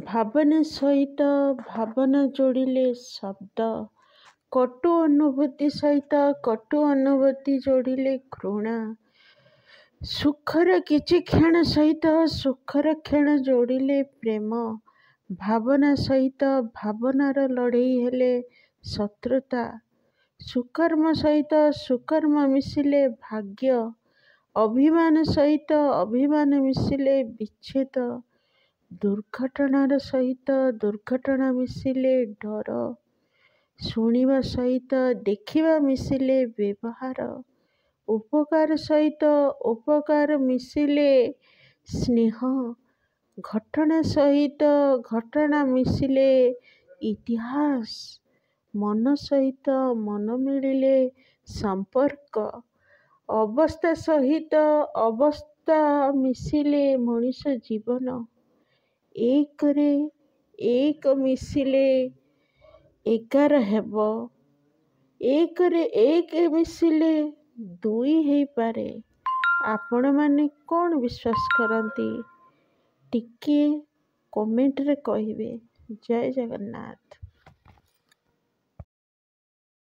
ଭାବନା ସହିତ ଭାବନା ଯୋଡ଼ିଲେ ଶବ୍ଦ, କଟୁ ଅନୁଭୂତି ସହିତ କଟୁ ଅନୁଭୂତି ଯୋଡ଼ିଲେ ଘୃଣା, ସୁଖର କିଛି କ୍ଷଣ ସହିତ ସୁଖର କ୍ଷଣ ଯୋଡ଼ିଲେ ପ୍ରେମ, ଭାବନା ସହିତ ଭାବନାର ଲଢ଼େଇ ହେଲେ ଶତ୍ରୁତା, ସୁକର୍ମ ସହିତ ସୁକର୍ମ ମିଶିଲେ ଭାଗ୍ୟ, ଅଭିମାନ ସହିତ ଅଭିମାନ ମିଶିଲେ ବିଚ୍ଛେଦ, ଦୁର୍ଘଟଣାର ସହିତ ଦୁର୍ଘଟଣା ମିଶିଲେ ଡର, ଶୁଣିବା ସହିତ ଦେଖିବା ମିଶିଲେ ବ୍ୟବହାର, ଉପକାର ସହିତ ଉପକାର ମିଶିଲେ ସ୍ନେହ, ଘଟଣା ସହିତ ଘଟଣା ମିଶିଲେ ଇତିହାସ, ମନ ସହିତ ମନ ମିଳିଲେ ସମ୍ପର୍କ, ଅବସ୍ଥା ସହିତ ଅବସ୍ଥା ମିଶିଲେ ମଣିଷ ଜୀବନ, ଏକରେ ଏକ ମିଶିଲେ 11 ହେବ, ଏକରେ ଏକ ମିଶିଲେ 2 ହେଇପାରେ। ଆପଣମାନେ କ'ଣ ବିଶ୍ୱାସ କରନ୍ତି ଟିକିଏ କମେଣ୍ଟରେ କହିବେ। ଜୟ ଜଗନ୍ନାଥ।